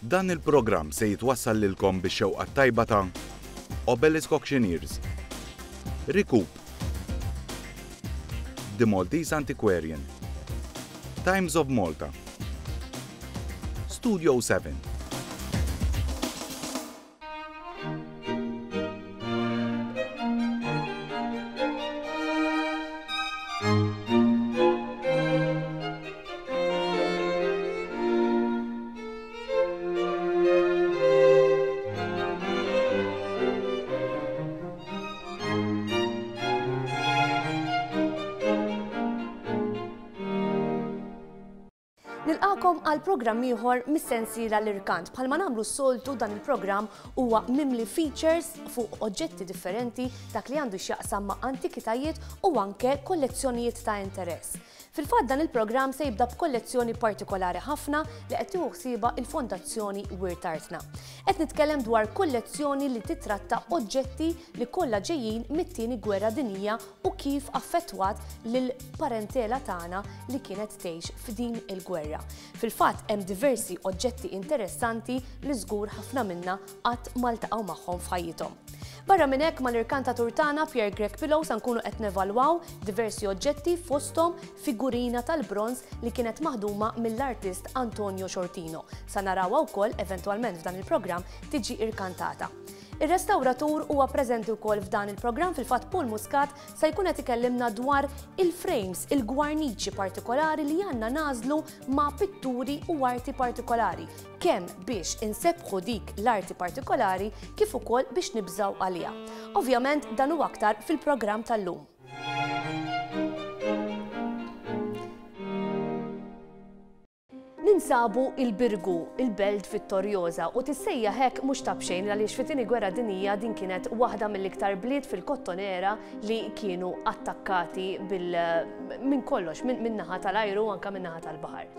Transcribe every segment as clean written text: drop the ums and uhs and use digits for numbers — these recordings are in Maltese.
Dan il-programm se jitwassal lilkom bix-xewqa t-tajba ta' Obelisk Auctioneers, Recoup, The Maltese Antiquarian, Times of Malta, Studio 7. Nilqakom għal programm ieħor mis-sensiela l-irkant. Bħalma nagħmlu s-soltu dan il-programm huwa mimli features fuq oġġetti differenti dak li għandu x'jaqsam ma' antikitajiet u anke kollezzjonijiet ta' interess. Fil-fatt dan il-programm se jibda b'kollezzjoni partikolari ħafna li qed tieħu ħsiebha il-Fondazzjoni Wirt Artna. Qed nitkellem dwar kollezzjoni li titratta oġġetti li kollha ġejjin mit-Tieni Gwerra Dinjija u kif affettwat lill-parentela tagħna li kienet tgħix f'din il-gwerra. Fil-fatt hemm diversi oġġetti interessanti li żgur ħafna minna qatt ma ltaqgħu magħhom f'ħajjithom. Barra minn hekk mal-irkantatur tagħna Pierre Grech Pillow sa nkunu qed nevalwaw diversi oġġetti fosthom figurina tal-bronż li kienet maħduma mill-artist Antonio Sciortino. Sa narawha wkoll eventwalment f'dan il-programm tiġi irkantata. Ir-restawratur huwa preżenti wkoll f'dan il-programm fil-fatt Paul Muscat se jkun qed ikellimna dwar il-frames, il-gwarniċi partikolari li għandna nagħżlu ma' pitturi u arti partikolari, kemm biex insebbħu dik l-arti partikolari kif ukoll biex nibżgħu għaliha. Ovvjament dan u aktar fil-programm tal-lum. Ninsabu il-Birgu, il-belt vittorjoża, u tissejjaħ hekk mhux ta' b'xejn għaliex fit-Tieni Gwerra Dinjija din kienet waħda mill-iktar bliet fil-Kottonera li kienu attakkati bil minn kollox, minn naħa tal-ajru u anke minn naħa tal-baħar.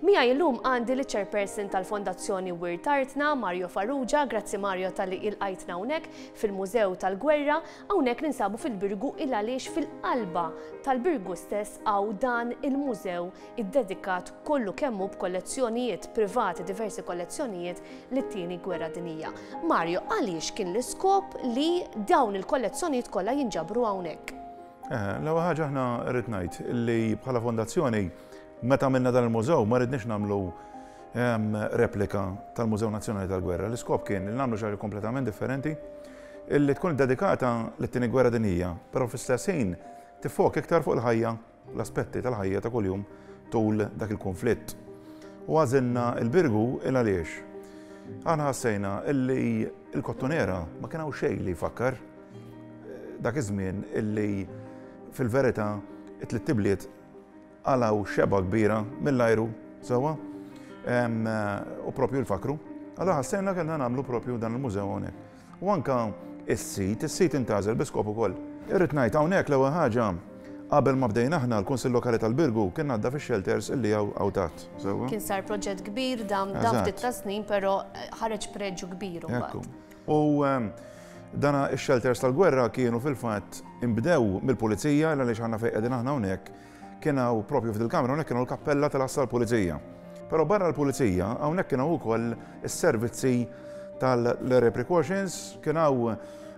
Miegħi llum għandi liċ-Chairperson tal-Fondazzjoni Wirt Artna, Mario Farrugia, grazzi Mario talli ilqajtna hawnhekk fil-Mużew tal-Gwerra, hawnhekk ninsabu fil-Birgu il għaliex fil-qalba tal-Birgu stess hawn dan il-mużew iddedikat kollu kemm hu b'kollezzjonijiet privati, diversi kollezzjonijiet lit-Tieni Gwerra Dinjija. Mario, għaliex kien l-iskop li dawn il-kollezzjonijiet kollha jinġabru hawnhekk? L-ewwel ħaġa aħna rrid ngħid li bħala fondazzjoni meta għamilna dan il-mużew ma ridniex nagħmlu replika tal-Mużew Nazzjonali tal-Gwerra. L-iskop kien li nagħmlu xi ħaġa kompletament differenti illi tkun iddedikata lit-Tieni Gwerra Dinjija, però fl-istess ħin tiffoka iktar fuq il-ħajja l-aspetti tal-ħajja ta' kuljum tul dak il-kunflitt. U għażilna l-Birgu il għaliex aħna ħassejna illi l-Kottonera ma kien hawn xejn li jfakkar dak iż-żmien illi fil-verità it-tlitt ibliet qalgħu xebgħa kbira mill-ajru sewwa u propju l-fakru. Allura ħassejna kellna nagħmlu propju dan il-mużew hawnhekk. U anke s-sit, is-sit intgħażel bi skop ukoll. Irrid ngħid hawnhekk l-ewwel ħaġa, qabel ma bdejna aħna l-Kunsill Lokali tal-Birgu kien għadda fix-shelters illi hawn hawn taħt, sewwa? Kien sar proġett kbir dam dam ftit ta' snin però ħareġ preġju kbir imbagħad. Ekku. U dana x-shelters tal-gwerra kienu fil-fatt inbdew mill-Pulizija għaliex aħna fejn qegħdin aħna hawnhekk Kien hawn propju f'dil-kamra hawnhekk kien hawn l-kappella tal-għassa tal-pulizija. Però barra l-pulizija hawnhekk kien hawn ukoll is-servizzi tal-area precautions, kien hawn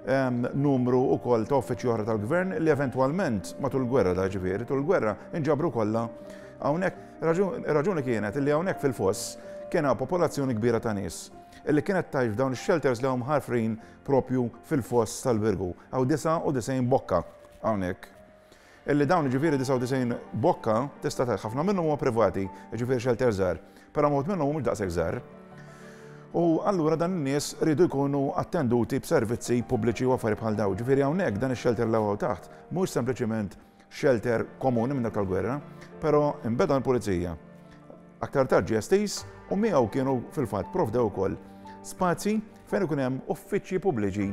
ehm, numru ukoll ta' uffiċċji oħra tal-gvern li eventwalment matul il-gwerra da ġifieri, tul il-gwerra inġabru kollha hawnhekk. Ir-raġuni kienet li hawnhekk fil-foss kien hawn popolazzjoni kbira ta' nies illi kienet tgħix f'dawn ix-shelters li hawn mħarfrin propju fil-foss tal-Birgu. Hawn 99 bokka hawnhekk. Illi dawn jiġifieri 99 bokka tista' tgħid ħafna minnhom huma privati, jiġifieri xelters żgħar, però wħud minnhom mhumiex daqshekk żgħar. U allura dan in-nies riedu jkunu attenduti b'servizzi pubbliċi u affarijiet bħal dawn. Ġifieri hawnhekk dan ix-xelter li hawn taħt mhuwiex sempliċiment xelter komuni minn dak tal-gwerra, però inbeda mill-pulizija. Aktar tard ġie estiż u miegħu kienu fil-fatt provdew ukoll spazji fejn ikun hemm uffiċċji pubbliċi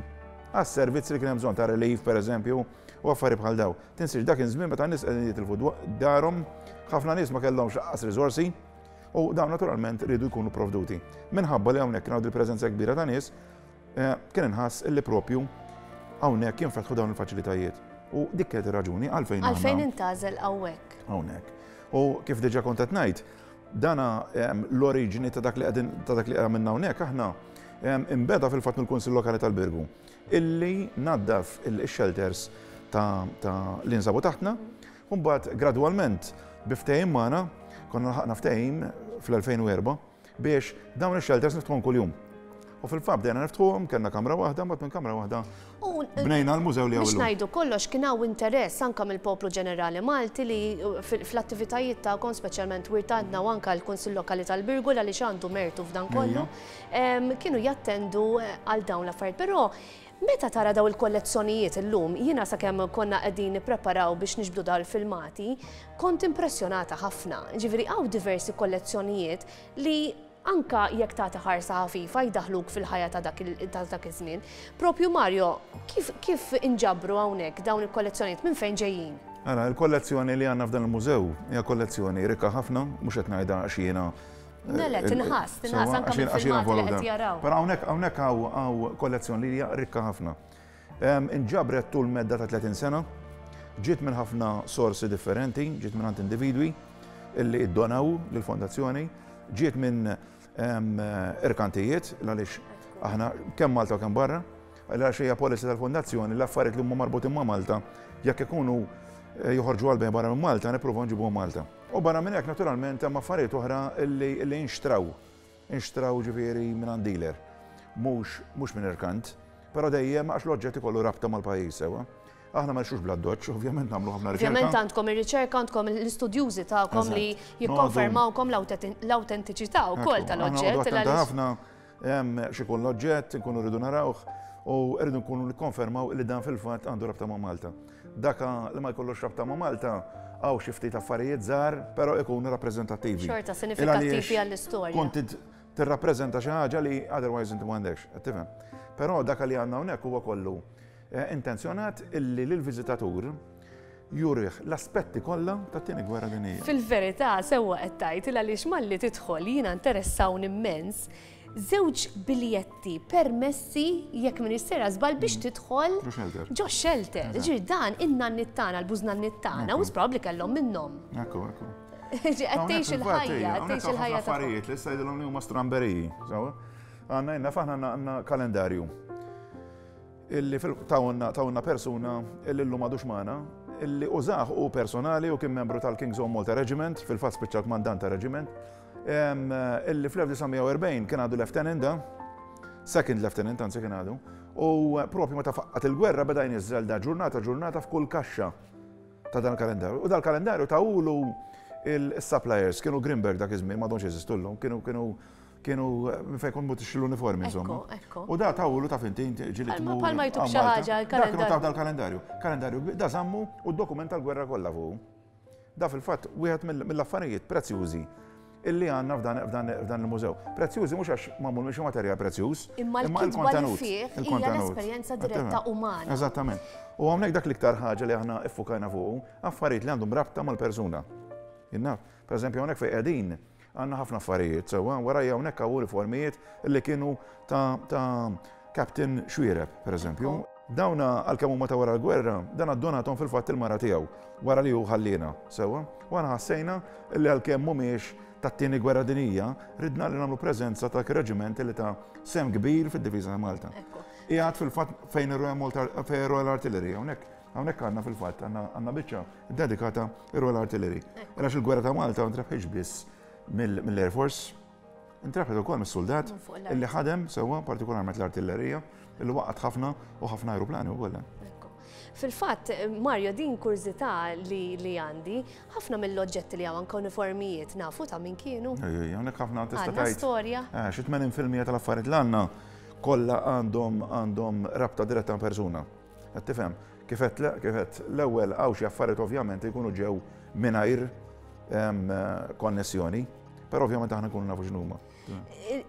għas-servizzi li kien hemm bżonn ta' relief pereżempju u affarijiet bħal dawn. Tinsiex dak kien żmien meta n-nies qegħdin jitilfu darhom, ħafna nies ma kellhomx lanqas riżorsi u dawn naturalment riedu jkunu provduti. Minħabba li hawnhekk kien hawn il-preżenza kbira ta' nies, eh, kien inħass illi propju hawnhekk jinfetħu dawn il-faċilitajiet. U dik kienet ir-raġuni għalfejn. Għalfejn intgħażel hawnhekk. Hawnhekk. U kif diġà kont qed ngħid, Dana l-oriġini ta' dak li qegħdin ta' dak li għamilna hawnhekk aħna inbeda fil-fatt mill-Kunsill Lokali tal-Birgu illi naddaf ix-shelters ta' li nsabu taħtna u mbagħad gradwalment bi ftehim magħna konna lħaqna ftehim fl-2004 biex dawn ix-shelters niftħuhom kuljum. U fil-fatt bdejna niftħuhom, kellna kamra waħda, mbagħad minn kamra waħda bnejna l-mużew li hawn Biex ngħidu kollox kien hawn interess anke mill-poplu ġenerali Malti li fl-attivitajiet tagħkom speċjalment Wirt Għandna u anke l-Kunsill Lokali tal-Birgu għaliex għandu mertu f'dan kollu, kienu jattendu għal dawn l-affarijiet. Però meta tara dawn il-kollezzjonijiet illum, jiena sakemm konna qegħdin nippreparaw biex niġbdu dawn il-filmati, kont impressjonata ħafna. Ġifieri hawn diversi kollezzjonijiet li anke jekk tagħti ħarsa ħafifa jdaħħluk fil-ħajja ta' dak ta' dak iż-żmien. Propju Mario, kif kif inġabru hawnhekk dawn il-kollezzjonijiet minn fejn ġejjin? Ara, il-kollezzjoni li għandna f'dan il-mużew hija kollezzjoni rikka ħafna, mhux qed ngħidha għax jiena Le, le, tinħass, tinħass anke mill-filmati li qed jaraw. Però hawnhekk hawnhekk hawn kollezzjoni li hija rikka ħafna. Inġabret tul medda ta' 30 sena, ġiet minn ħafna sorsi differenti, ġiet minn għand individwi illi iddonaw lill-fondazzjoni, ġiet minn irkantijiet, għaliex aħna kemm Malta u kemm barra, għaliex hija policy tal-fondazzjoni l-affarijiet li huma marbutin ma' Malta jekk ikunu eh, joħorġu għal barra minn Malta nippruvaw nġibuhom Malta. U barra minn hekk naturalment hemm affarijiet oħra illi inxtraw Inxtraw ġifieri mingħand dealer, mhux mhux minn irkant, però dejjem għax l-oġġett ikollu rabta mal-pajjiż sewwa. Aħna ma nixtrux bl-addoċċ, ovvjament nagħmlu ħafna riċerka. Ovvjament għandkom ir-riċerka, għandkom l-istudjużi tagħkom li jikkonfermawkom l-awtentiċità wkoll tal-oġġett. Aħna ħafna x'ikun l-oġġett, inkunu rridu narawh u rridu nkunu nikkonfermaw li dan fil-fatt għandu rabta ma' Malta. Dak li ma jkollux rabta ma' Malta, hawn xi ftit affarijiet żgħar, però ikunu rappreżentattivi. Xorta sinifikattivi għall-istorja. Kont tirrappreżenta xi ħaġa li otherwise inti m'għandekx, qed tifhem. Però dak li għandna hawnhekk huwa kollu eh, intenzjonat illi lill-viżitatur jurih l-aspetti kollha tat-tieni gwerra dinjija. Fil-verità sewwa qed tgħid il għaliex malli tidħol jiena interessawni immens żewġ biljetti permessi jekk m'iniex sejra żball biex tidħol ġo shelter. Ġifieri dan in-nanniet tagħna, l-bużnanniet tagħna, wisq probabbli kellhom minnhom. Ekku, ekku. Qed tgħix il-ħajja, qed tgħix il-ħajja ta' affarijiet li issa jidhirhom li huma stramberiji. Għandna jenna faħna għandna kalendarju illi tawna persuna illi llum għadux magħna, illi użah u personali u kien membru tal-King's Own Malta Regiment, fil-fatt spiċċa kmandant ta' regiment, illi fl-1940 kien għadu lieutenant da, second lieutenant anzi kien għadu, u propju meta faqqat il-gwerra beda jniżżel da ġurnata ġurnata f'kull kaxxa ta' dan il-kalendarju. U dal-kalendarju tawulu il-suppliers, kienu Grimberg dak iż-żmien, m'għadhomx jeżistu llum, kienu kienu kienu minn fejn kont mutix l-uniformi insomma. U da tawulu ta' finti ġili tmur. Palma jtuk xi ħaġa l-kalendarju. Dak dal-kalendarju. Kalendarju da żammu u d-dokument tal-gwerra kollha fuq. Da fil-fatt wieħed mill-affarijiet prezzjużi illi għandna f'dan il-mużew. Prezzjużi mhux għax magħmul minn xi materjal prezzjuż, imma l-kontenut. Hija l-esperjenza diretta umana. Eżattament. U hawnhekk dak l-iktar ħaġa li aħna iffukajna fuqu, affarijiet li għandhom rabta mal-persuna. Jinnaf, per eżempju hawnhekk fejn qegħdin għandna ħafna affarijiet sewwa, warajja hawnhekk hawn uniformijiet illi kienu ta' Captain Xuereb, per eżempju. Dawna għalkemm huma ta' wara l-gwerra, dan addonathom fil-fatt il-mara tiegħu wara li hu ħalliena, sewwa? U aħna ħassejna li għalkemm mhumiex tat-Tieni Gwerra Dinjija, ridna li nagħmlu preżenza ta' dak ir-reġiment li ta sehem kbir fid-difiża ta' Malta. Qiegħed fil-fatt fejn ir-Royal Malta fejn ir-Royal Artillery hawnhekk hawnhekk għandna fil-fatt għandna biċċa ddedikata ir-Royal Artillery. Għax il-gwerra ta' Malta ma ntrebħitx biss mill-Air Force, Intrebħet ukoll mis-suldat illi ħadem sewwa partikolarment l-artillerija illi waqgħet ħafna u ħafna ajruplani wkoll. Fil-fatt, Mario, din kurżità li, li għandi, ħafna mill-oġġetti li hawn anke uniformijiet nafu ta' min kienu. Ejja, hawnhekk ħafna tista' tgħid. storja. Eh, xi 80% tal-affarijiet li għandna kollha għandhom għandhom rabta diretta ma' persuna. Qed tifhem? Kif għedt kif għedt l-ewwel hawn xi affarijiet ovvjament jkunu ġew mingħajr konnessjoni, però ovvjament aħna nkunu nafu x'inhuma.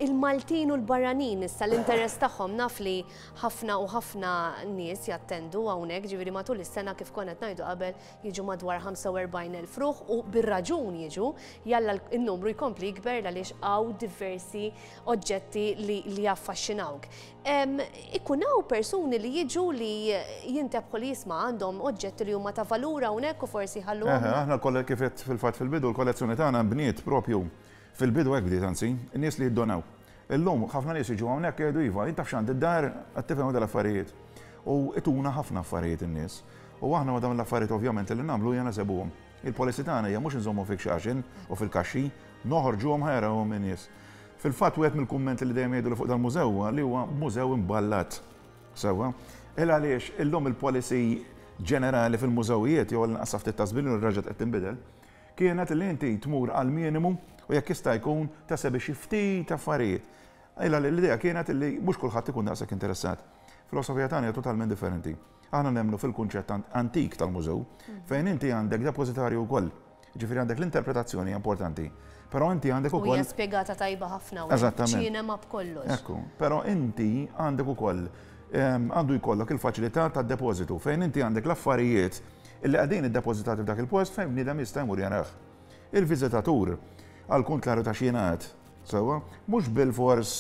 Il-Maltin u l-barranin issa l-interess tagħhom naf li ħafna u ħafna nies jattendu hawnhekk, ġifieri matul is-sena kif konna qed ngħidu qabel jiġu madwar 45,000 ruħ u bir-raġun jiġu, jalla n-numru jkompli jikber għaliex hawn diversi oġġetti li jaffaxxinawk. Ikun hawn persuni li jiġu li jintebħu li jisma' għandhom oġġetti li huma ta' valur hawnhekk u forsi jħalluhom. Eħe, aħna l-kolle kif għedt fil-fatt fil-bidu, l-kollezzjoni tagħna nbniet propju Fil-bidu hekk bdiet anzi, in-nies li jiddonaw. Illum ħafna nies jiġu hawnhekk jgħidu iva, jien taf x'għandi d-dar, qed tifhem dal-affarijiet. U ituna ħafna affarijiet in-nies. U aħna ma' dawn l-affarijiet ovvjament li nagħmlu hija nesebuhom. Il-policy tagħna hija mhux inżommu fix-xaxin u fil-kaxxi, noħorġuhom ħa jarawhom in-nies. Fil-fatt wieħed mill-kummenti li dejjem jgħiduli fuq dal-mużew huwa li huwa mużew imballat. Sewwa? Il għaliex illum il-policy ġenerali fil-mużewijiet jew għall-inqas sa ftit ta' żmien ilu reġgħet qed tinbidel, kienet li inti tmur għall-minimu u jekk jista' jkun tesebi xi ftit affarijiet. Il għaliex l-idea kienet li mhux kulħadd ikun daqshekk interessat. Filosofija tagħna hija totalment differenti. Aħna nemmnu fil-kunċett antik tal-mużew, fejn inti għandek depożitarju wkoll. Ġifieri għandek l-interpretazzjoni hija importanti. Però inti għandek ukoll. Hija spjegata tajba ħafna. Eżattament. Ċinema b'kollox. Ekku, però inti għandek ukoll għandu jkollok il-faċilità tad-depożitu fejn inti għandek l-affarijiet illi qegħdin iddepożitati f'dak il-post fejn bniedem jista' jmur jarah. Il-viżitatur, għall-kuntrarju ta' x'jingħad, sewwa, mhux bilfors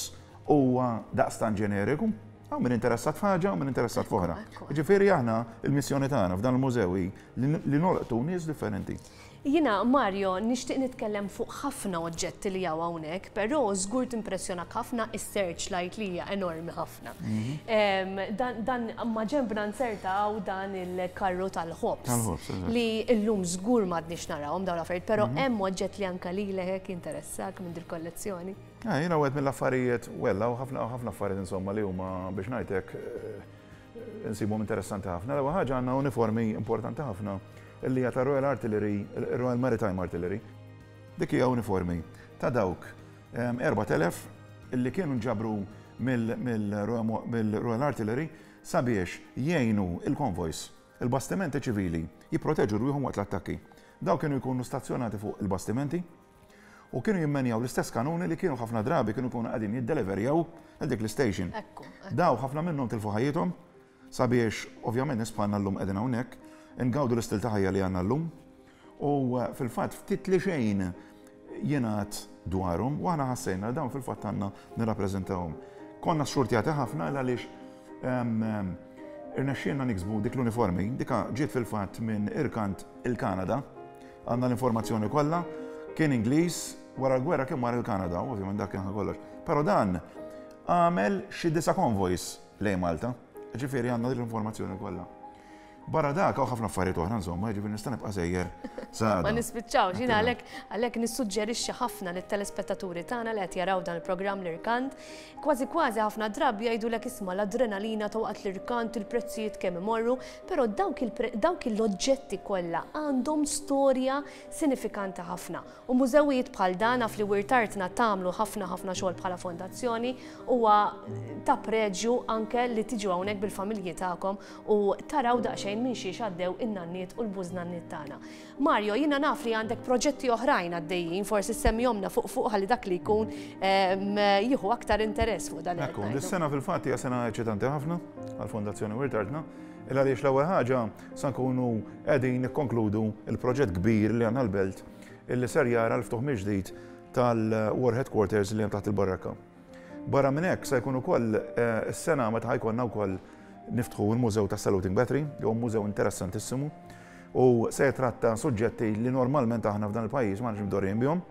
huwa daqstant ġeneriku. Hawn min interessat f'ħaġa u min interessat f'oħra. Ġifieri aħna il-missjoni tagħna f'dan il-mużew hi li nolqtu nies differenti. Jiena, Mario, nixtieq nitkellem fuq ħafna oġġetti li hawn hawnhekk, però żgur timpressjonak ħafna is-searchlight li hija enormi ħafna. Dan ma' ġenbna nzerta hawn dan il-karru tal-ħobż. Li llum żgur m'għadniex narawhom dawn l-affarijiet, però hemm oġġett li anke lilek hekk jinteressak minn dil-kollezzjoni. Jiena wieħed mill-affarijiet, well, hawn ħafna ħafna affarijiet insomma li huma biex ngħid hekk insibhom interessanti ħafna. L-ewwel ħaġa għandna uniformi importanti ħafna li hija tar-Royal Artillery, Royal Maritime Artillery. Dik hija uniformi ta' dawk 4000 illi kienu nġabru mill-Royal Artillery sabiex jgħinu il-konvojs, il-bastimenti ċivili jipproteġu rwieħhom waqt l-attakki. Dawk kienu jkunu stazzjonati fuq il-bastimenti U kienu jimmenjaw l-istess kanuni li kienu ħafna drabi kienu jkunu qegħdin jiddeliverjaw għal dik l-istation. Daw ħafna minnhom tilfu ħajjithom sabiex ovvjament nies bħalna llum qegħdin hawnhekk, ingawdu l-istil ta' ħajja li għandna llum. U fil-fatt ftit li xejn jingħad dwarhom u aħna ħassejna li dawn fil-fatt għandna nirrappreżentawhom. Konna xxurtjati ħafna għaliex irnexxielna niksbu dik l-uniformi, dika ġiet fil-fatt minn irkant il-Kanada, Għandna l-informazzjoni kollha, kien Ingliż, wara l-gwerra kien mar il-Kanada, ovvjament dak kien kollox. Però dan għamel xi disa' konvojs lejn Malta, ġifieri għandna dik l-informazzjoni kollha. Barra dak hawn ħafna affarijiet oħra insomma, jiġifieri nista' nibqa' sejjer sa Ma nispiċċawx, jiena għalhekk għalhekk nissuġġerixxi ħafna lit-telespettaturi tagħna li qed jaraw dan il-programm l-Irkant Kważi kważi ħafna drabi jgħidulek isma' l-adrenalina ta' waqt l-irkant, il-prezzijiet kemm imorru, però dawk dawk l-oġġetti kollha għandhom storja sinifikanti ħafna. U mużewijiet bħal dan naf li Wirt Artna tagħmlu ħafna ħafna xogħol bħala fondazzjoni, huwa ta' preġju anke li tiġu hawnhekk bil-familji tagħkom u taraw daqsxejn minn xiex għaddew in-nanniet u l-bużnanniet tagħna. Mario, jiena naf li għandek proġetti oħrajn għaddejjin, forsi semmihomna fuq fuq ħalli dak li jkun jieħu aktar interess fuq dan. Ekku, dis-sena fil-fatt hija sena eċitanti ħafna għall-Fondazzjoni Wirt Artna, il għaliex l-ewwel ħaġa sa nkunu qegħdin nikkonkludu il-proġett kbir li għandna l-belt illi ser jara l-ftuħ mill-ġdid tal-War Headquarters li hemm taħt il-Barrakka. Barra minn hekk se jkun ukoll is-sena meta ħa jkollna wkoll niftħu l-Mużew tas-Saluting Battery, li huwa mużew interessantissimu u se jitratta suġġetti li normalment aħna f'dan il-pajjiż m'aħniex mdorrijin bihom.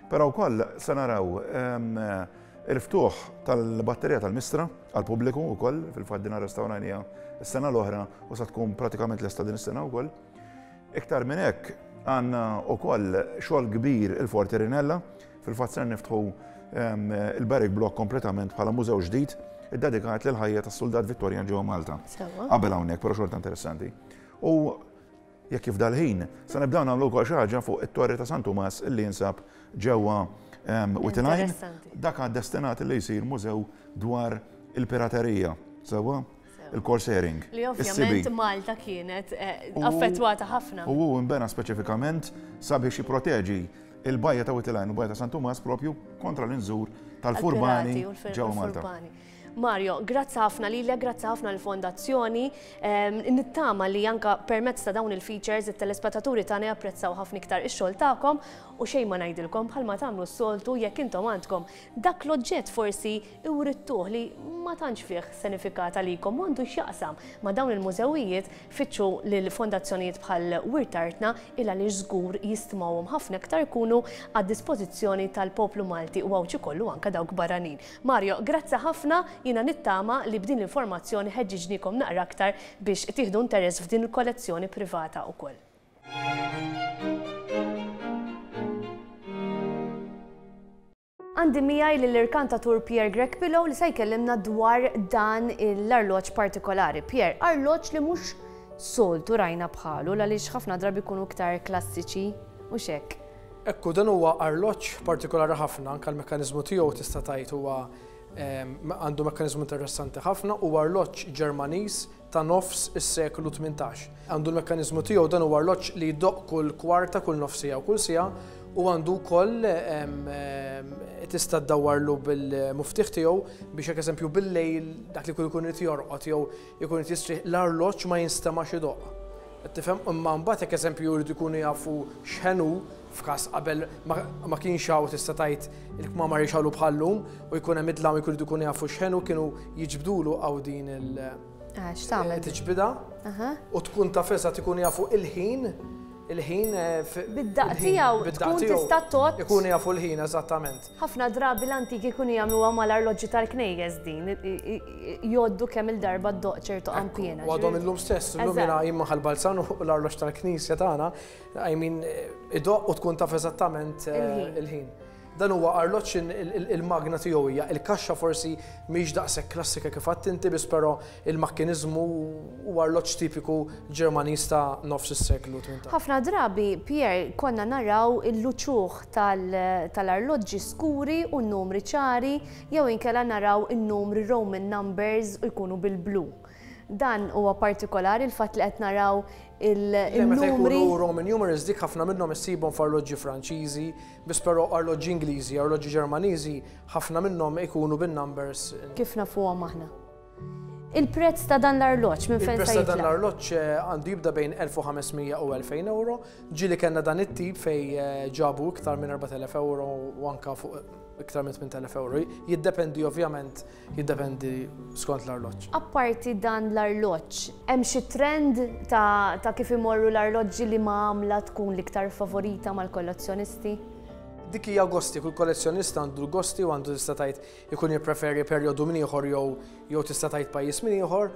Però wkoll se naraw il-ftuħ tal-batterija tal-Mistra għall-pubbliku wkoll, fil-fatt din arrestawrajniha s-sena l-oħra u sa tkun pratikament lesta din is-sena wkoll. Iktar minn hekk għandna wkoll xogħol kbir il-Forti Rinella, Fil-fatt ser niftħu il-Barrack Block kompletament bħala mużew ġdid iddedikat lill-ħajja tas-suldat Vittorjan ġewwa Malta. Qabel hawnhekk, però xorta interessanti. U jekk jifdal ħin, se nibdew nagħmlu wkoll xi ħaġa fuq it-Torri ta' San Tumas illi jinsab ġewwa Witilajn. Dak destinat li jsir mużew dwar il-piraterija. Sewwa? Il-corsairing. Li ovvjament Malta kienet eh, affettwata ħafna. U hu nbena speċifikament sabiex jipproteġi il-bajja ta' Wied il-Għajn u bajja ta' San Tumas propju kontra l-inżur tal-furbani ġewwa Malta. Mario, grazzi ħafna lilek, grazzi ħafna lill-Fondazzjoni. Nittama li anke permezz ta' dawn il-features it-telespettaturi tagħna japprezzaw ħafna iktar ix-xogħol tagħkom u xejn ma ngħidilkom bħalma tagħmlu s-soltu jekk intom għandkom dak l-oġġett forsi writtuh li ma tantx fih sinifikat għalikom u għandu x'jaqsam ma' dawn il-mużewijiet fittxu lil fondazzjonijiet bħal Wirt Artna il għaliex żgur jistmawhom ħafna iktar ikunu għad-dispożizzjoni tal-poplu Malti u Għawdxi kollu anke dawk barranin. Mario, grazzi ħafna, jiena nittama li b'din l-informazzjoni ħeġġiġniekom naqra aktar biex tieħdu interess f'din il-kollezzjoni privata wkoll. Għandi miegħi lill-irkantatur Pierre Grech Pillow li se jkellimna dwar dan l-arloġġ partikolari. Pierre, arloġġ li mhux soltu rajna bħalu għaliex ħafna drabi jkunu iktar klassiċi u xek. Ekku, dan huwa arloġġ partikolari ħafna, anke l-mekkaniżmu tiegħu tista' tgħid huwa għandu mekkaniżmu interessanti ħafna, huwa arloġġ Ġermaniż ta' nofs is-seklu 18. Għandu l-mekkaniżmu tiegħu dan huwa arloġġ li jdoqq kull kwarta, kull nofs siegħa u kull siegħa u għandu wkoll tista' ddawwarlu bil-muftieħ tiegħu biex jekk eżempju bil-lejl dak li jkun ikun irid jorqod jew ikun irid jistrieħ l-arloġġ ma jinstemax idoqq. Qed tifhem? Imma mbagħad jekk eżempju jridu jkunu jafu x'ħen hu, f'każ qabel ma kienx hawn tista' tgħid il-kmamar jixgħalu bħal-lum u jkun hemm id-dlam jkunu jkunu jafu x'ħen hu kienu jiġbdulu hawn din il- Ah, x'tagħmel? Tiġbidha u tkun taf eżatt ikunu jafu il-ħin il-ħin eh, Bid-daqq tiegħu tkun tista' tgħodd. Ikunu jafu l-ħin eżattament. Ħafna drabi l-antiki jkunu jagħmluha mal-arloġġi tal-knejjes din, jgħoddu kemm il-darba ddoqq ċertu qanpiena. U għadhom illum stess, illum jiena jien ma' Ħal-Balzan u l-arloġġ tal-knisja tagħna, I mean, idoqq u tkun taf eżattament eh, il-ħin. Dan huwa arloġġ il-magna tiegħu hija il-kaxxa forsi mhix daqshekk klassika kif għedt inti biss però il-makkiniżmu huwa arloġġ tipiku Ġermaniż ta' nofs is-seklu 18. Ħafna drabi, Pierre, konna naraw l-uċuħ tal-arloġġi skuri u n-numri ċari jew inkella naraw in-numri Roman numbers u jkunu bil-blu. Dan huwa partikolari l-fatt li qed naraw il-numri. Meta jkunu Roman numerals dik ħafna minnhom issibhom f'arloġġi Franċiżi, biss però arloġġi Ingliżi, arloġġi Ġermaniżi ħafna minnhom ikunu bin-numbers. Kif nafuhom aħna. Il-prezz ta' dan l-arloġġ minn fejn se Il-prezz ta' dan jitlaq? l-arloġġ għandu jibda bejn 1500 u 2000 euro. Ġieli kellna dan it-tip fejn ġabu iktar minn 4000 euro u anke fuq iktar minn 8000 euro. Jiddependi ovvjament Jiddependi skont l-arloġġ. Apparti dan l-arloġġ, hemm xi trend ta' ta' kif imorru l-arloġġi liema għamla tkun l-iktar favorita mal-kollezzjonisti? Dik hija gosti, kull kollezzjonista għandu l-gosti u għandu tista' tgħid ikun jippreferi perjodu minn ieħor jew jew tista' tgħid pajjiż minn ieħor.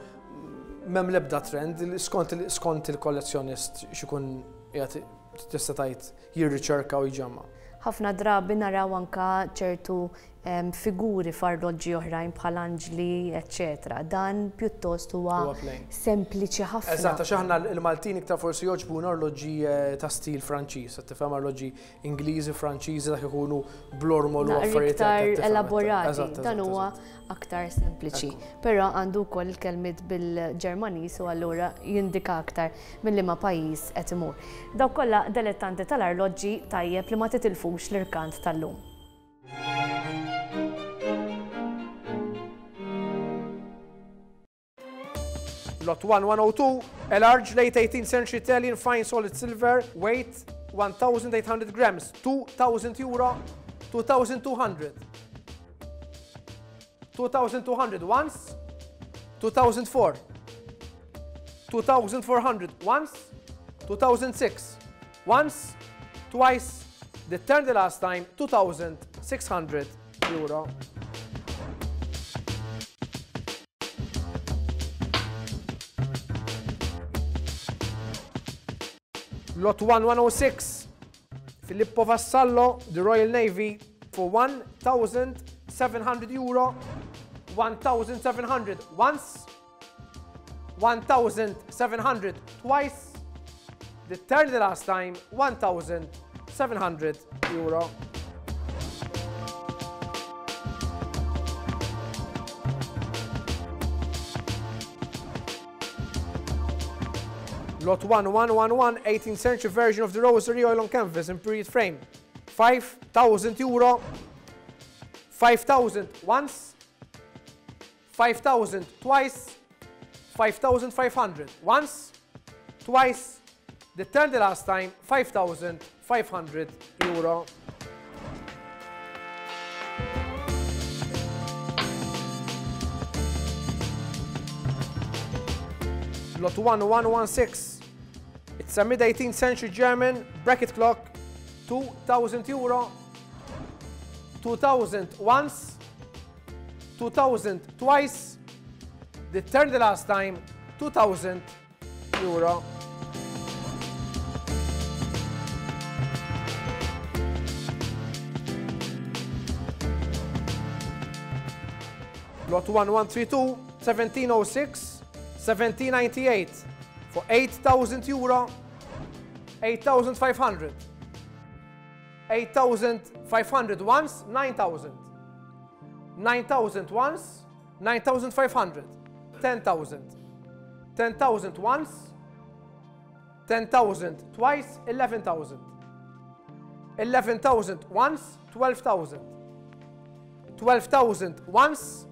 M'hemm l-ebda trend, skont skont il-kollezzjonist x'ikun qiegħed tista' tgħid jirriċerka u jġemma'. Ħafna drabi naraw anke ċertu figuri f'arloġġi oħrajn bħal anġli, eċċetera. Dan pjuttost huwa sempliċi ħafna. Eżatt, għax aħna l-Maltin iktar forsi jogħġbuna arloġġi eh, ta' stil Franċiż, qed tifhem arloġġi Ingliżi, Franċiżi dak ikunu blormol u affarijiet iktar elaborati. Dan huwa aktar sempliċi. Però għandu wkoll il-kelmiet bil-Ġermaniż u allura jindika aktar minn liema pajjiż qed imur. Dawk kollha delettanti tal-arloġġi tajjeb li ma titilfux l-irkant tal-lum. Lot 1102, a large late 18th century Italian fine solid silver, weight 1800 grams, 2000 euro, 2200. 2200 once, 2004, 2400 once, 2006 once, twice, the turn the last time, 2600 euro. Lot 1106, Filippo Vassallo, the Royal Navy, for 1,700 euro, 1,700 once, 1,700 twice, the third the last time, 1,700 euro. Lot 1111, 18th century version of the rosary oil on canvas in period frame. 5,000 euro. 5,000 once. 5,000 twice, 5,500 once, twice, the third the last time, 5,500 euro. Lot 1116. It's a mid-18th century German bracket clock, 2,000 euro, 2,000 once, 2,000 twice, the third the last time, 2,000 euro. Lot 1132, 1706, 1798 for 8,000 euro, 8,500. 8,500 once, 9,000. 9,000 once, 9,500. 10,000. 10,000 once, 10,000 twice, 11,000. 11,000 once, 12,000. 12,000 once,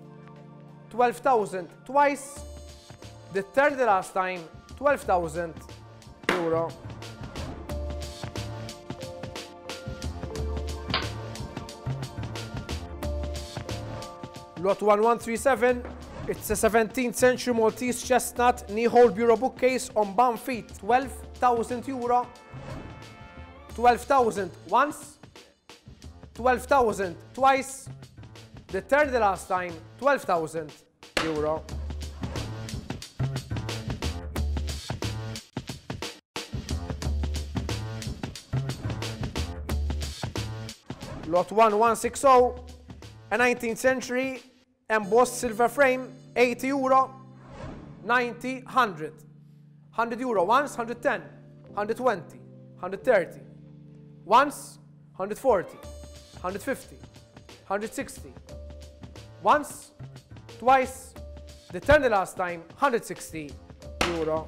12,000 twice, the third the last time, 12,000 euro. Lot 1137, it's a 17th century Maltese chestnut knee-hole bureau bookcase on bum feet, 12,000 euro. 12,000 once, 12,000 twice, the third the last time, 12,000 euro. Lot 1160, a 19th century embossed silver frame, 80 euro, 90, 100. 100 euro once, 110, 120, 130. Once, 140, 150, 160. Once, twice, the turn the last time, 160 euro.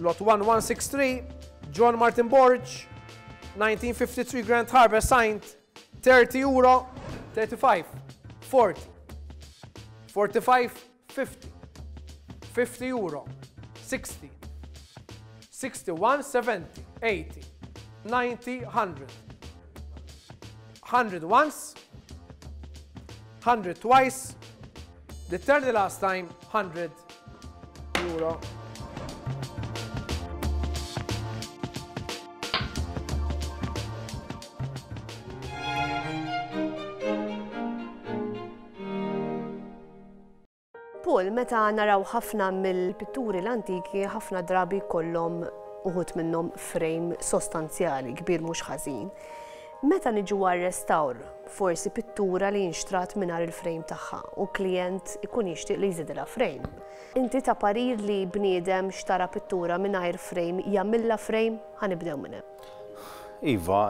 Lot 1163, John Martin Borg, 1953 Grand Harbour signed, 30 euro, 35, 40, 45, 50, 50 euro, 60, 61, 70, 80, 90, 100. 100 once, 100 twice, the third the last time, 100 euro. Paul, meta naraw ħafna mill-pitturi l-antiki, ħafna drabi jkollhom uħud minnhom frame sostanzjali, kbir mhux ħażin. Meta niġu għar-restawr, forsi pittura li nxtrat mingħajr il-frame tagħha u klijent ikun jixtieq li jżidilha frame. Inti ta' parir li bniedem xtara pittura mingħajr frame jagħmilha frame? Ħa nibdew minn hemm. Iva,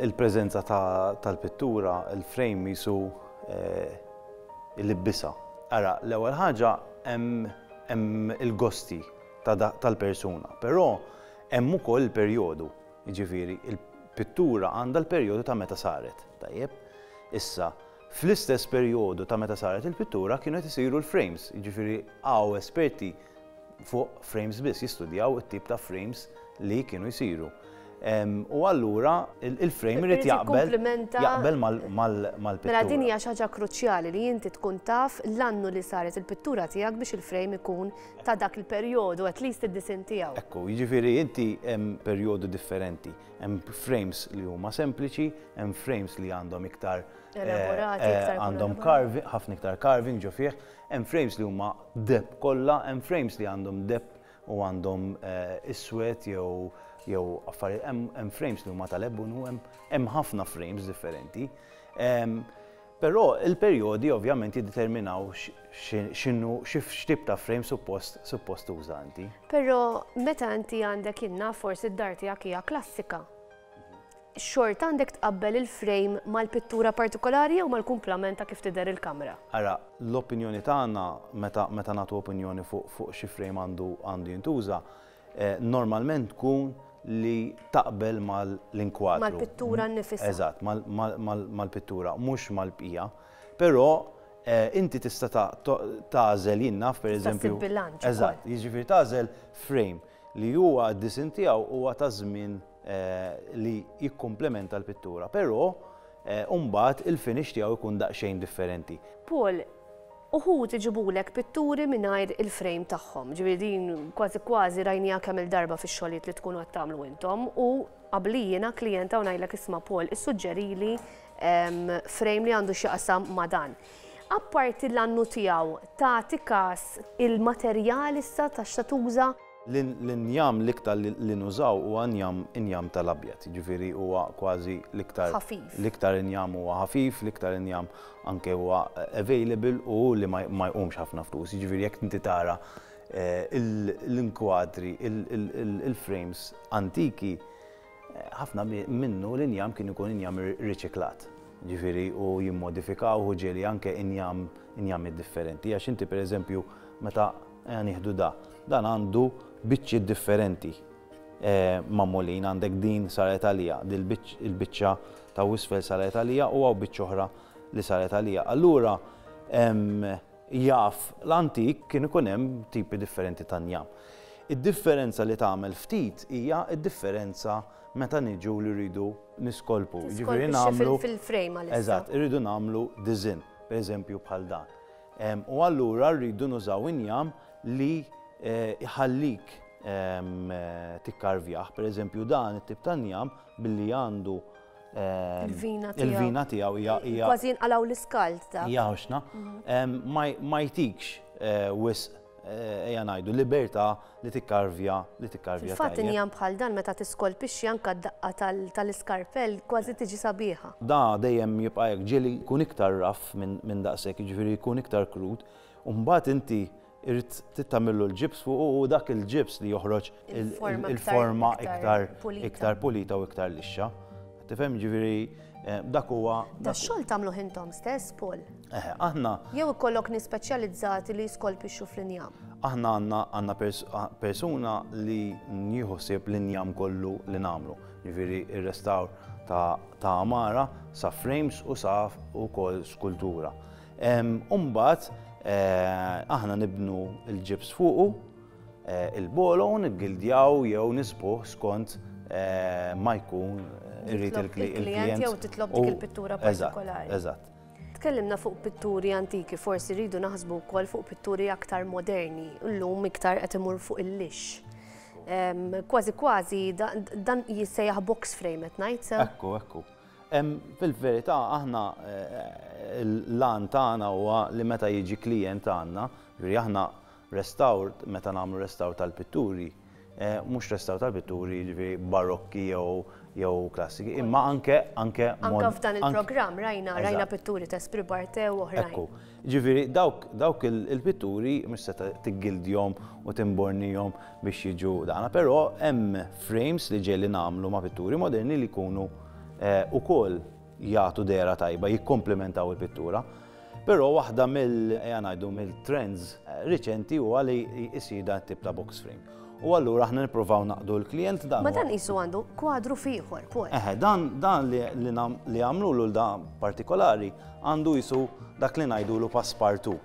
il-preżenza tal-pittura, il-frame jisu ilibbisha. Ara, l-ewwel ħaġa hemm il-gosti tal-persuna, però hemm ukoll il-perjodu, jiġifieri il-pittura għandha l-perjodu ta' meta saret, tajjeb? Issa, fl-istess perjodu ta' meta saret il-pittura kienu qed isiru l-frames, jiġifieri hawn esperti fuq frames biss, jistudjaw it-tip ta' frames li kienu jsiru. U allura il-frame irid jaqbel jaqbel mal-pittura. Mela din hija xi ħaġa kruċjali li inti tkun taf l-annu li saret il-pittura tiegħek biex il-frame ikun ta' dak il-perjodu, at least id-disinn tiegħu. Ekku, jiġifieri inti hemm perjodu differenti. Hemm frames li huma sempliċi, hemm frames li għandhom iktar elaborati, iktar għandhom carving, ħafna iktar carving ġo fih, hemm frames li huma deheb kollha, hemm frames li għandhom deheb u għandhom iswed jew jew affarijiet, hemm frames li huma tal-ebunu, hemm ħafna frames differenti. Però il-perjodi ovvjament jiddeterminaw x'inhu x'tip ta' frame suppost suppost tuża inti. Però meta inti għandek inna forsi d-dar tiegħek hija klassika. Xorta għandek tqabbel il-frame mal-pittura partikolari jew mal-kumplament ta' kif tidher il-kamra? Ara, l-opinjoni tagħna meta meta nagħtu opinjoni fuq fuq xi frame għandu għandu jintuża, normalment tkun li taqbel mal-inkwadru. Mal-pittura nnifisha. Eżatt, mal-pittura, mhux mal-bqija. Però inti tista' tagħżel jien naf pereżempju. Tista' ssib bilanċ ukoll. Eżatt, jiġifieri tagħżel frame li huwa d-disinn tiegħu huwa ta' żmien li jikkumplementa l-pittura, però mbagħad il-finish tiegħu jkun daqsxejn differenti. Paul, uħud iġibulek pitturi mingħajr il-frame tagħhom, ġifieri din kważi kważi rajniha kemm-il darba fix-xogħlijiet li tkunu qed tagħmlu intom u qabli jiena klijenta u ngħidlek isma' Paul issuġġerili frame li għandu x'jaqsam ma' dan. Apparti l-annu tiegħu tagħti każ il-materjal issa ta' x'se tuża? L-injam l-iktar li nużaw huwa injam injam tal-abjad, jiġifieri huwa kważi l-iktar Ħafif. L-iktar injam huwa ħafif, l-iktar injam anke huwa available u li ma jqumx ħafna flus. Jiġifieri jekk inti tara l-inkwadri, il-frames antiki, Ħafna minnu l-injam kien ikun injam riċiklat. Ġifieri u jimmodifikawh u ġieli anke injam injamiet differenti. Għax inti pereżempju meta ejja nieħdu da, dan għandu biċċiet differenti magħmulin, għandek din saret għaliha, il-biċċa ta' isfel saret għaliha u hawn biċċa oħra li saret għaliha. Allura jaf l-antik kien ikun hemm tipi differenti ta' njam. Id-differenza li tagħmel ftit hija d-differenza meta niġu li rridu niskolpu. Jiġifieri nagħmlu fil-frame għalissa. Eżatt, irridu nagħmlu disinn, pereżempju bħal dan. U allura rridu nużaw injam li jħallik tikkarvjah. Pereżempju dan it-tip ta' njam billi għandu Il-vina tiegħu. Il-vina tiegħu hija hija. Kważi jinqalgħu l-iskald ta'. Hija ħoxna. Ma jtikx wisq ejja ngħidu libertà li tikkarvja li tikkarvja. Fil-fatt injam bħal dan meta tiskolpixxi anke d-daqqa tal-iskarpell kważi tiġi sabiħa. Da dejjem jibqa' hekk, ġieli jkun iktar rough minn daqshekk, jiġifieri jkun iktar krud, u mbagħad inti irid tagħmillu l-ġibs fuqu u dak il-ġibs li joħroġ il-forma iktar iktar pulita u iktar lixxa. Tifhem ġifieri dak huwa. Da xogħol tagħmluh intom stess, Paul? Eħe, aħna. Jew ikollok nies speċjalizzati li jiskolpixxu fl-injam? Aħna għandna għandna persuna li nieħu ħsieb l-injam kollu li nagħmlu. Ġifieri ir-restawr ta' għamara sa frames u sa wkoll skultura. U mbagħad aħna nibnu l-ġibs fuqu, il-bolo u niggildjaw jew nisbuh skont ma jkun irid il-klijent. Jew titlob dik il-pittura partikolari. Eżatt. Tkellimna fuq pitturi antiki, forsi rridu naħsbu wkoll fuq pitturi aktar moderni, llum iktar qed imur fuq il-lix. Kważi kważi dan jissejjaħ box frame qed ngħid sew? Ekku, ekku. Fil-verità aħna l-għan tagħna huwa li meta jiġi klijent għandna, jiġifieri aħna restawr meta nagħmlu restawr tal-pitturi, mhux restawr tal-pitturi jiġifieri barokki jew jew klassiki, imma anke anke Anke f'dan il-programm rajna rajna pitturi ta' Esprit Barthe u oħrajn. Ekku. Jiġifieri dawk dawk il-pitturi mhux se tiggildjhom u timbornihom biex jiġu dana, però hemm frames li ġieli nagħmlu ma' pitturi moderni li jkunu ukoll jagħtu dehra tajba, jikkomplementaw il-pittura. Però waħda mill, ejja ngħidu, mill-trends riċenti huwa li jsir dan it-tip ta' box frame. U allura aħna nippruvaw naqdu l-klijent dan. Ma dan qisu għandu kwadru f'ieħor, Paul. Eħe, dan dan li li għamlulu l dan partikolari għandu qisu dak li ngħidulu passepartout.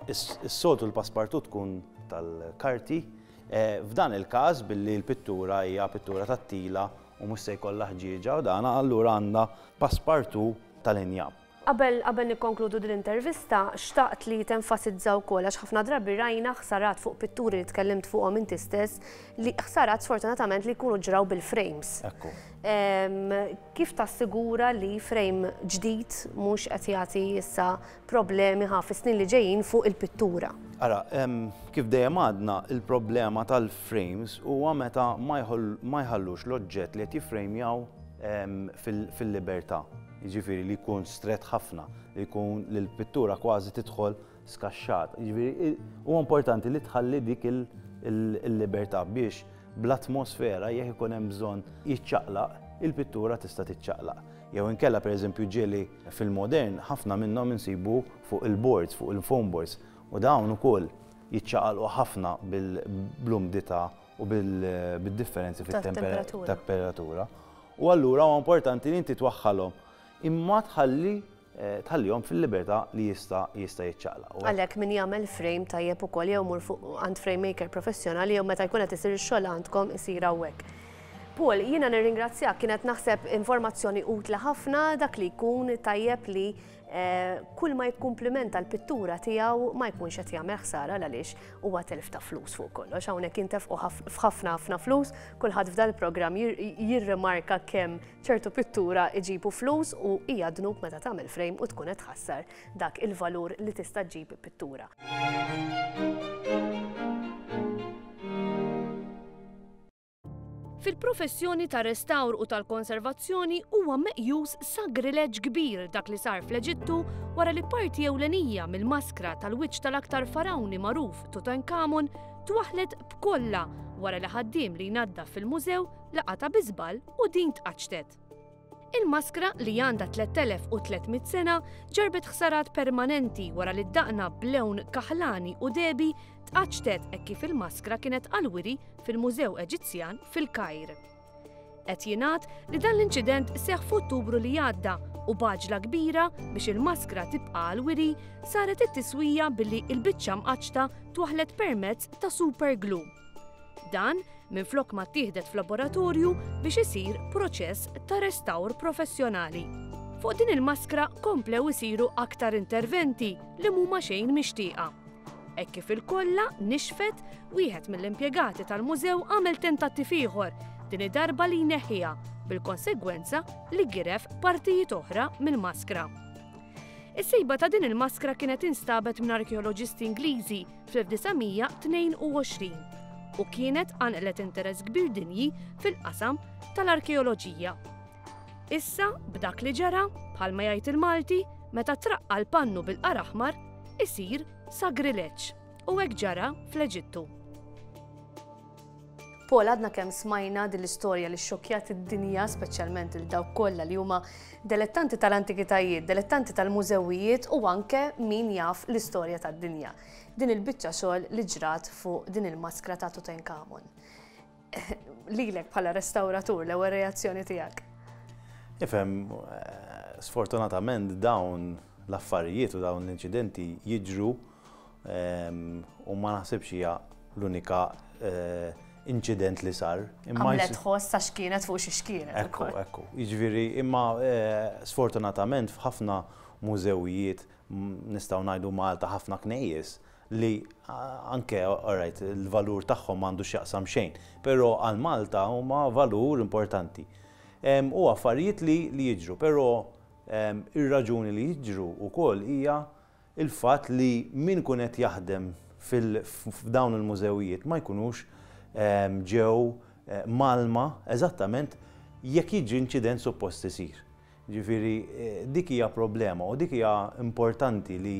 Is-soltu l-passepartout tkun tal-karti. F'dan il-każ billi l-pittura hija pittura tat-tila u mhux se jkollha ħġieġa u dan allura għandna passepartout tal-injam. Qabel qabel nikkonkludu din l-intervista, xtaqt li tenfasizza wkoll għax ħafna drabi rajna ħsarat fuq pitturi li tkellimt fuqhom inti stess li ħsarat sfortunatament li jkunu ġraw bil-frames. Ekku. Kif tassigura li frame ġdid mhux qed jagħti issa problemi ħa fis-snin li ġejjin fuq il-pittura? Ara, kif dejjem għadna, il-problema tal-frames huwa meta ma jħallux l-oġġett li qed jiffrejmjaw fil-libertà. Jiġifieri li jkun strett ħafna, li jkun li l-pittura kważi tidħol skaxxat. Jiġifieri huwa importanti li tħalli dik il-libertà biex bl-atmosfera jekk ikun hemm bżonn jiċċaqlaq, il-pittura tista' tiċċaqlaq. Jew inkella pereżempju ġieli fil-modern ħafna minnhom insibu fuq il-boards, fuq il-foam boards, u dawn ukoll jiċċaqalqu ħafna bl-umdità u bid-differenzi fit-temperatura. U allura huwa importanti li inti twaħħalhom imma tħalli tħallihom fil-libertà li jista' jista' jiċċaqlaq. Għalhekk min jagħmel frame tajjeb ukoll jew imur fuq għand frame maker professjonali jew meta jkun qed isir ix-xogħol għandkom isir hawnhekk. Paul, jiena nirringrazzjak, kienet naħseb informazzjoni utli ħafna dak li jkun tajjeb li kull ma jikkumplimenta l-pittura tiegħu ma jkunx qed jagħmel ħsara għaliex huwa telf ta' flus fuq kollox. Hawnhekk intefqu f'ħafna ħafna flus, kulħadd f'dal-programm jirrimarka kemm ċertu pittura iġibu flus u hija dnub meta tagħmel frame u tkun qed tħassar dak il-valur li tista' ġġib pittura. Fil-professjoni tar-restawr u tal-konservazzjoni huwa meqjus sagrileġġ kbir dak li sar fl-Eġittu wara li parti ewlenija mill-maskra tal-wiċċ tal-aktar farawni magħruf Tutankhamon twaħħlet b'kollha wara li ħaddiem li jnaddaf fil-mużew laqatha bi żball u din tqaċċtet. Il-maskra, li għandha 3,300 sena, ġarrbet ħsarat permanenti wara li d-daqna b'lewn kaħlani u dehbi tqaċċtet hekk kif il-maskra kienet għall-wiri fil-Mużew Eġizzjan fil-Kajr. Qed jingħad li dan l-inċident seħħ f'Ottubru li għadda u b'għaġla kbira biex il-maskra tibqa' għall-wiri saret it-tiswija billi l-biċċa mqaċċta twaħħlet permezz ta' super glue. Dan minflok ma ttieħdet f'laboratorju biex isir proċess ta' restawr professjonali. Fuq din il-maskra komplew isiru aktar interventi li mhuma xejn mixtieqa. Hekk kif il-kolla nixfet, wieħed mill-impjegati tal-mużew għamel tentattiv ieħor, din id-darba li jneħħiha, bil-konsegwenza li giref partijiet oħra mill-maskra. Is-sejba ta' din il-maskra kienet instabet minn arkeoloġisti Ingliżi fl-1922 u kienet qanqlet interess kbir dinji fil-qasam tal-arkeoloġija. Issa, b'dak li ġara, bħalma jgħid il-Malti, meta traqqa' l-pannu bil-qar aħmar, isir sagrileġġ. U hekk ġara fl-Eġittu. Paul, għadna kemm smajna din l-istorja li xxokkjat id-dinja, speċjalment lil dawk kollha li huma delettanti tal-antikitajiet, delettanti tal-mużewijiet u anke min jaf l-istorja tad-dinja. Din il-biċċa xogħol li ġrat fuq din il-maskra ta' Tutankhamon. Lilek bħala restawratur l-ewwel reazzjoni tiegħek? Ifhem, sfortunatament dawn l-affarijiet u dawn l-inċidenti jiġru U ma naħsibx hija l-unika inċident li sar. Għamlet ħoss għax kienet fuq xi xkienet. Ekku, ekku. Jiġifieri, imma sfortunatament f'ħafna mużewijiet nistgħu ngħidu Malta ħafna knejjes li anke alright il-valur tagħhom m'għandu x'jaqsam xejn, però għal Malta huma valur importanti. U affarijiet li jiġru, però ir-raġuni li jiġru wkoll hija il-fatt li min ikun qed jaħdem f'dawn il-mużewijiet ma jkunux ġew mgħallma eżattament jekk jiġri inċident suppost isir. Jiġifieri dik hija problema u dik hija importanti li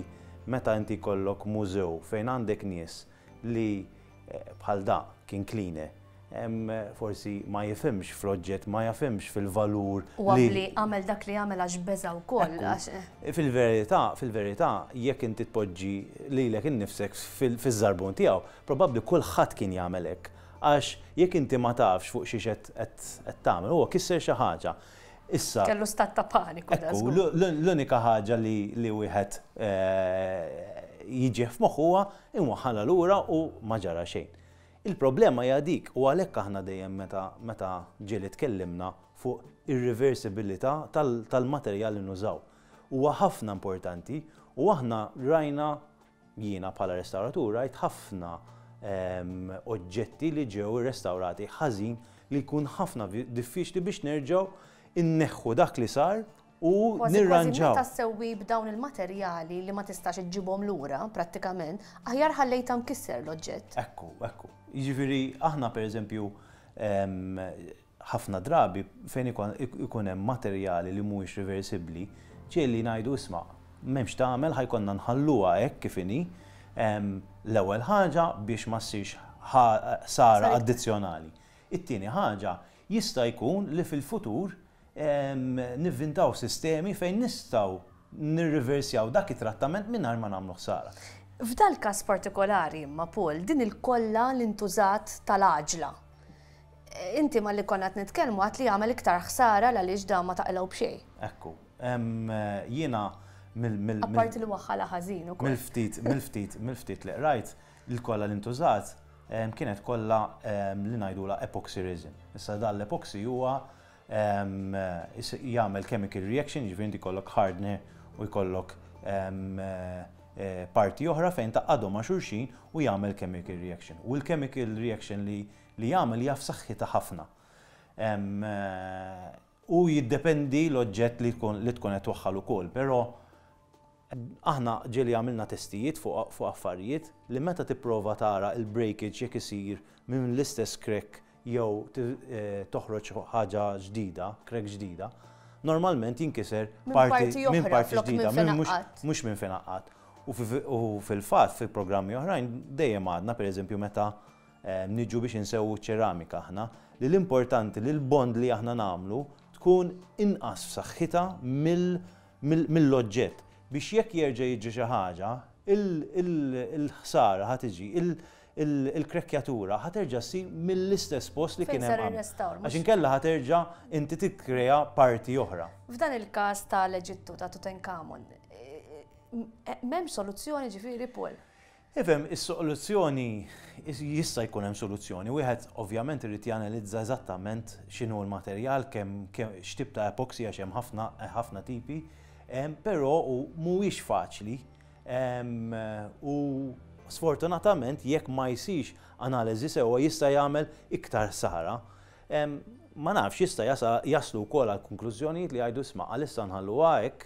meta inti jkollok mużew fejn għandek nies li bħal da kien cleaner forsi ma jifhimx fl-oġġett, ma jafhimx fil-valur. U abbli għamel dak li għamel għax beża' wkoll. Fil-verità, fil-verità, jekk inti tpoġġi lilek innifsek fiż-żarbun tiegħu, probabbli kulħadd kien jagħmel hekk. Għax jekk inti ma tafx fuq xiex qed tagħmel, huwa kisser xi ħaġa. Issa. Kellu stat ta' paniku. Ekku, l-unika ħaġa li wieħed jiġih f'moħħu huwa imwaħħalha lura u ma ġara xejn. Il-problema hija dik u għalhekk aħna dejjem meta meta ġieli tkellimna fuq ir-reversibilità tal-materjal li nużaw. Huwa ħafna importanti u aħna rajna, jiena bħala restawratur rajt ħafna oġġetti li ġew irrestawrati ħażin li jkun ħafna diffiċli biex nerġgħu nneħħu dak li sar u nirranġaw. Kważi meta ssewwi b'dawn il-materjali li ma tistax iġġibhom lura prattikament, aħjar ħallejtha mkisser l-oġġett. Ekku, ekku. Jiġifieri aħna pereżempju ħafna drabi fejn ikun hemm materjali li mhuwiex riversibbli, ġieli ngħidu isma' m'hemmx tagħmel ħa jkollna nħalluha hekk kif inhi, l-ewwel ħaġa biex ma ssirx ħsara addizzjonali. It-tieni ħaġa, jista' jkun li fil-futur nivvintaw sistemi fejn nistgħu nirriversjaw dak it-trattament mingħajr ma nagħmlu ħsara. F'dal-każ partikolari imma Paul, din il-kolla li ntużat tal-għaġla. Inti malli konna qed nitkellmu għedt li jagħmel iktar ħsara l-għaliex dan ma taqilgħu b'xejn. Ekku. Jiena mill mill Apparti li waħħalha ħażin ukoll. Mill-ftit mill-ftit mill-ftit li qrajt, il-kolla li ntużat kienet kolla li ngħidulha epoxy resin. Issa dan l-epoxy huwa jagħmel chemical reaction, jiġifieri inti jkollok hardener u jkollok parti oħra fejn tgħaqqadhom ma' xulxin u jagħmel chemical reaction. U l-chemical reaction li li jagħmel hija f'saħħitha ħafna. U jiddependi l-oġġett li tkun li tkun qed twaħħal ukoll, però aħna ġieli għamilna testijiet fuq fuq affarijiet li meta tipprova tara l-breakage jekk isir minn l-istess crack jew toħroġ ħaġa ġdida, crack ġdida, normalment jinkiser parti minn parti ġdida, mhux minn fejn għaqqadt. U fil-fatt fi programmi oħrajn dejjem għadna pereżempju meta niġu biex insewwu ċ-ċeramika aħna, li l-importanti li l-bond li aħna nagħmlu tkun inqas f'saħħitha mill-oġġett biex jekk jerġa' jiġri xi ħaġa, il-ħsara ħa tiġi, il-krekkjatura ħa terġa' ssir mill-istess post li kien hemm qabel. Għax inkella ħa terġa' inti tikkrea parti oħra. F'dan il-każ ta' l-Eġittu ta' Tutankhamun, m'hemmx soluzzjoni ġifieri Paul? Ifhem, is-soluzzjoni, jista' jkun hemm soluzzjoni. Wieħed ovvjament irid janalizza eżattament x'inhu l-materjal, kemm x'tip ta' epoxy għax hemm ħafna ħafna tipi, però mhuwiex faċli u sfortunatament jekk ma jsirx analiżi sewwa jista' jagħmel iktar ħsara. Ma nafx, jista' jaslu wkoll għal konklużjonijiet li jgħidu isma' għalissa nħalluha hekk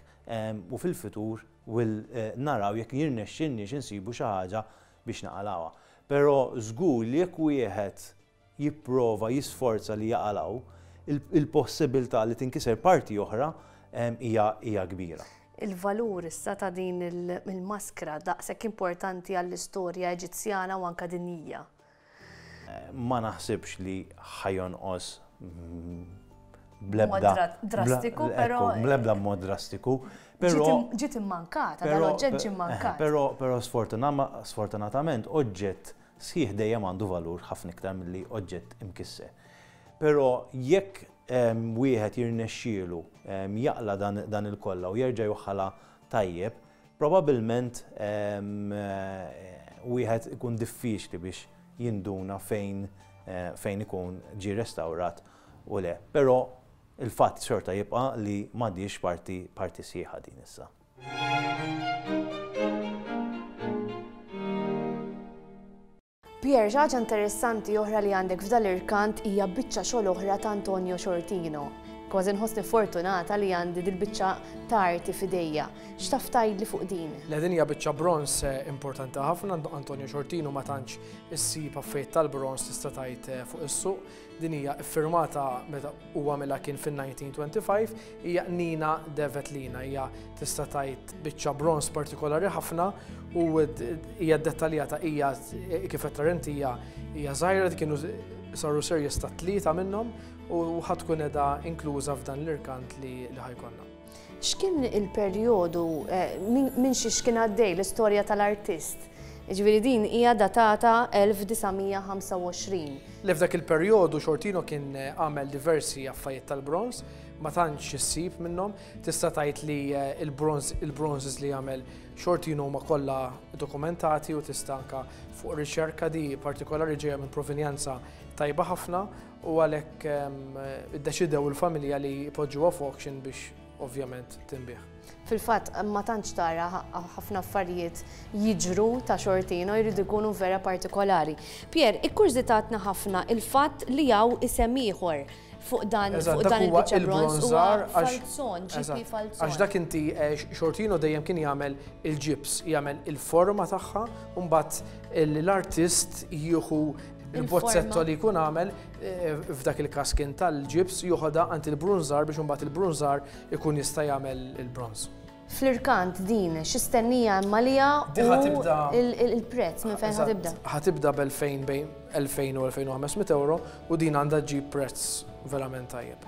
u fil-futur Will naraw jekk jirnexxilniex insibu xi ħaġa biex naqalgħuha. Però żgur li jekk wieħed jipprova jisforza li jaqalgħu, il-possibilità li tinkiser parti oħra hija hija kbira. Il-valur issa ta' din il-maskra daqshekk importanti għall-istorja Eġizzjana u anke dinjija. Ma naħsibx li ħa jonqos bl-ebda. Drastiku, però. Bl-ebda mod drastiku. Ġiet immankata, dan oġġett ġie mmankat. Però, però sfortunatament oġġett sħiħ dejjem għandu valur ħafna iktar milli oġġett imkisser. Però jekk wieħed jirnexxielu jaqla' dan il-kolla u jerġa' jwaħħalha tajjeb, Probabbilment wieħed ikun diffiċli biex jinduna fejn fejn ikun ġie restawrat u le. Però il-fatt xorta jibqa' li m'għadhiex parti parti sħiħa din issa. Pierre, xi ħaġa interessanti oħra li għandek f'dal-irkant hija biċċa xogħol oħra ta' Antonio Sciortino. Kważi nħossni fortunata li għandi dil-biċċa ta' arti f'idejja. X'taf tgħidli fuq din? Le din hija biċċa bronż importanti ħafna, Antonio Sciortino ma tantx issib affarijiet tal-bronż tista' tgħid fuq is-suq. Din hija ffirmata meta hu għamilha kien fin-1925, hija Nina de Vetlina, hija tista' tgħid biċċa bronż partikolari ħafna u hija ddettaljata hija kif qed tara inti hija hija żgħira kienu saru series ta' tlieta minnhom u ħa tkun qiegħda inkluża f'dan l-irkant li ħa jkollna. X'kien il-perjodu, minn xiex kien għaddej l-istorja tal-artist? Jiġifieri din hija datata 1925. Le f'dak il-perjodu Sciortino kien għamel diversi affarijiet tal-bronż, ma tantx issib minnhom. Tista' tgħid li l-bronż, il-bronzes li għamel Sciortino huma kollha dokumentati u tista' anke fuq riċerka di partikolari ġejja minn provenjanza tajba ħafna u għalhekk iddeċidew il-familja li jpoġġuha f'auction biex ovvjament tinbiegħ. Fil-fatt ma tantx tara ħafna affarijiet jiġru ta' Sciortino jridu jkunu vera partikolari. Pierre, ikkurżitatna ħafna il-fatt li hawn isem ieħor fuq dan fuq dan il-biċċa bronż huwa Falzon, GP Falzon. Għax dak inti Sciortino dejjem kien jagħmel il-ġibs, jagħmel il-forma tagħha u mbagħad l-artist jieħu Il-bozzetto li jkun għamel, f'dak il-każ kien tal-ġibs, joħodha għand il-brunżar biex imbagħad il-brunżar ikun jista' jagħmel il-bronż. Fl-irkant din, xi stennija hemm għaliha u l-prezz minn fejn ħa tibda? Ħa tibda b'elfejn bejn 2000 u 2500 ewro u din għandha ġġib prezz verament tajjeb.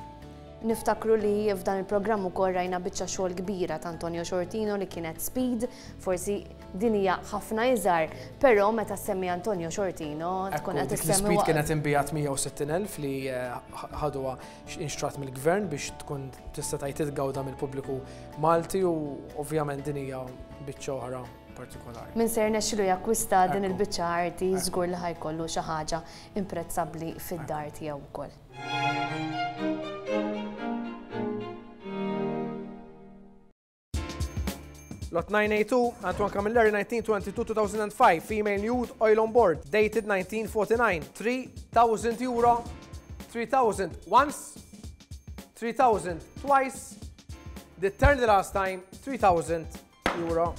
Niftakru li f'dan il-programm ukoll rajna biċċa xogħol kbira ta' Antonio Sciortino li kienet Speed, forsi din hija ħafna iżgħar, però meta ssemmi Antonio Sciortino tkun qed issemmi. Speed kienet inbigħet 160,000 li ħaduha inxtrat mill-gvern biex tkun tista' tgħid titgawda mill-pubbliku Malti u ovvjament din hija biċċa oħra partikolari. Min se jirnexxilu jakkwista din il-biċċa arti żgur li ħa jkollu xi ħaġa imprezzabbli fid-dar tiegħu wkoll. Lot 982, Antoine Camilleri, 1922-2005, female nude, oil on board, dated 1949, 3,000 euro, 3,000 once, 3,000 twice, the turn the last time, 3,000 euro.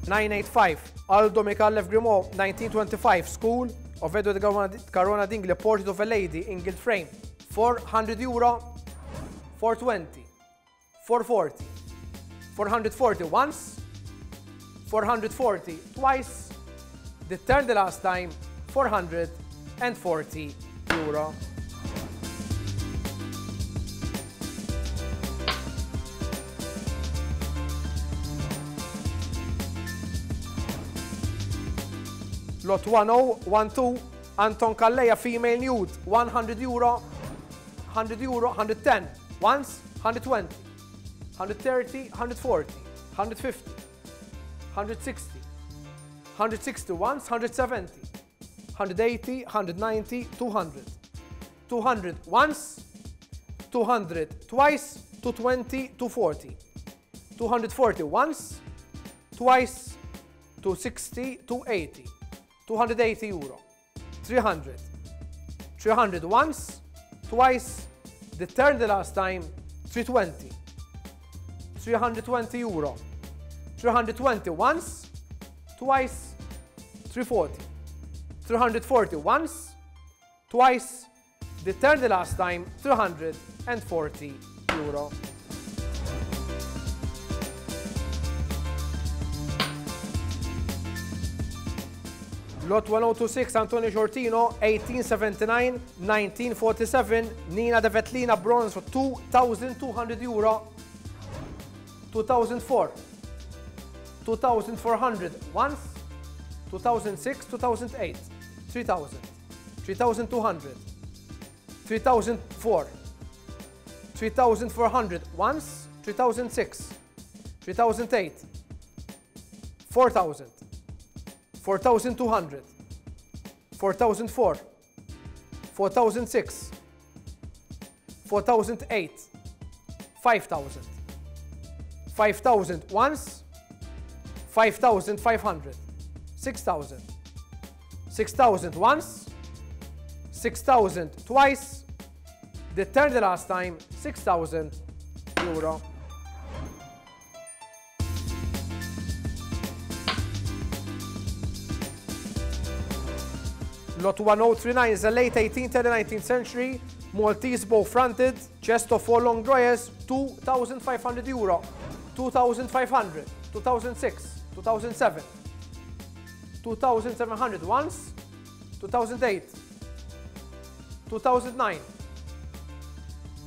985, Aldo Micallef Grimaud, 1925, School of Edward Caruana Dingli, Portrait of a Lady in Gilt Frame, 400 euro, 420, 440, 440 once, 440 twice, the turn the last time, 440 euro. Lot 1012, Anton Calleja, female nude, 100 euro, 100 euro, 110, once, 120, 130, 140, 150, 160, 160 once, 170, 180, 190, 200, 200 once, 200 twice, 220, 240, 240 once, twice, 260, 280, 280 euro, 300, 300 once, twice, the turn the last time, 320, 320 euro, 320 once, twice, 340, 340 once, twice, the turn the last time, 340 euro. Lot 1026, Antonio Sciortino, 1879-1947, Nina De Vetlina bronze for 2,200 euro, 2004, 2,400 once, 2006, 2008, 3,000, 3,200, 3,004, 3,400 once, 3,006, 3,008, 4,000, 4,200, 4,004, 4,006, 4,008, 5,000, 5,000 once, 5,500, 6,000, 6,000 once, 6,000 twice, the third the last time, 6,000 euro. Lot 1039 is a late 18th and 19th century Maltese bow-fronted chest of 4 long drawers, 2,500 euro, 2,500, 2006, 2007, 2,700 once, 2008, 2009,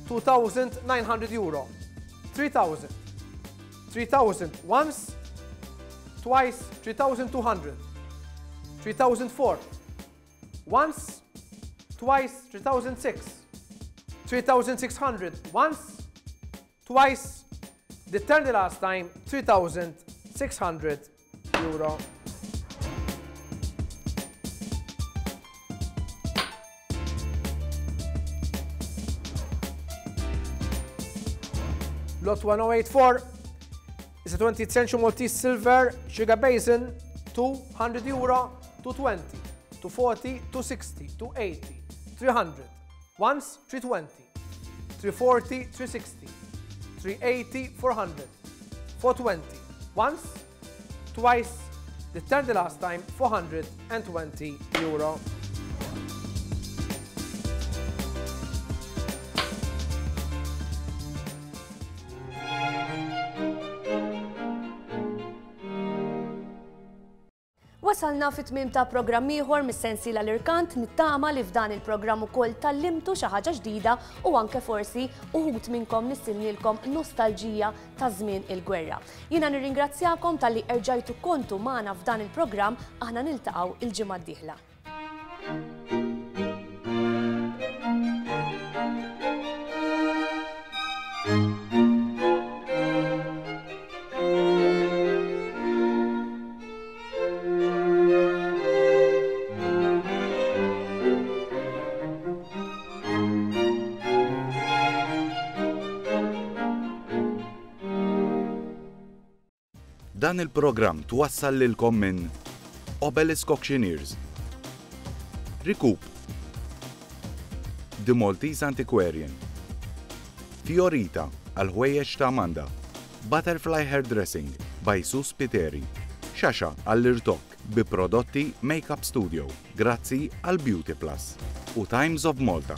2,900 euro, 3,000, 3,000 once, twice, 3,200, 3,004, once, twice, 3,006, 3,600 once, twice, the turn the last time, 3,600 euro. Lot 1084 is a 20th century Maltese silver sugar basin, 200 euro, 220, 240, 260, 280, 300, once, 320, 340, 360, 380, 400, 420, once, twice, the turn the last time, 420 euro. Wasalna fi tmiem ta' programm ieħor mis-sensiela l-irkant nittama li f'dan il-programm ukoll tallimtu xi ħaġa ġdida u anke forsi uħud minnkom nissilnilkom nostalġija ta' żmien il-gwerra. Jiena nirringrazzjakom talli erġajtu kontu magħna f'dan il-programm aħna niltaqgħu il-ġimgħa d-dieħla. Dan il-programm twassal lilkom minn Obelisk Auctioneers, Recoup, The Maltese Antiquarian, Fiorita għal ħwejjeġ ta' Amanda, Butterfly Hairdressing by Sus Piteri, Xaxa għall-irtokk bi prodotti Makeup Studio, grazzi għal Beauty Plus u Times of Malta.